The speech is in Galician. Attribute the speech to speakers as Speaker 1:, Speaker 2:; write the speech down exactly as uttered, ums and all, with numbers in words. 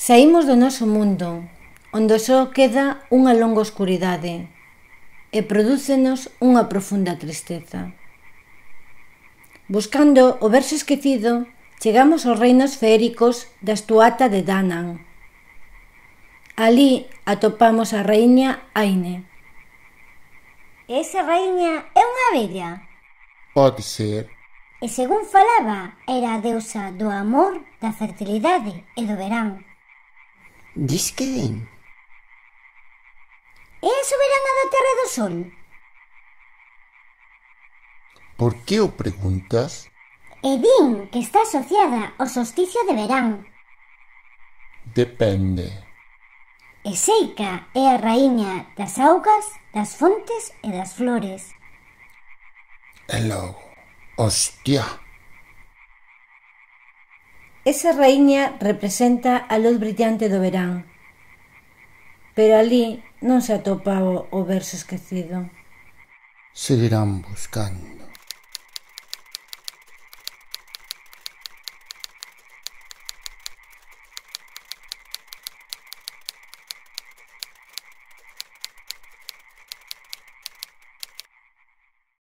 Speaker 1: Saímos do noso mundo, onde só queda unha longa oscuridade, e prodúcenos unha profunda tristeza. Buscando o verso esquecido, chegamos aos reinos feéricos da Estuata de Danann. Alí atopamos a raíña Aine.
Speaker 2: Esa raíña é unha vella?
Speaker 3: Pode ser.
Speaker 2: E según falaba, era a deusa do amor, da fertilidade e do verán.
Speaker 3: Dis que din?
Speaker 2: É a soberana da Terra e do Sol?
Speaker 3: Por que o preguntas?
Speaker 2: E din que está asociada ao solsticio de verán.
Speaker 3: Depende.
Speaker 2: E Seica é a raíña das augas, das fontes e das flores.
Speaker 3: E logo, hostia!
Speaker 1: Esa raíña representa a luz brillante do verán, pero alí non se atopa o, o verso esquecido.
Speaker 3: Seguirán buscando.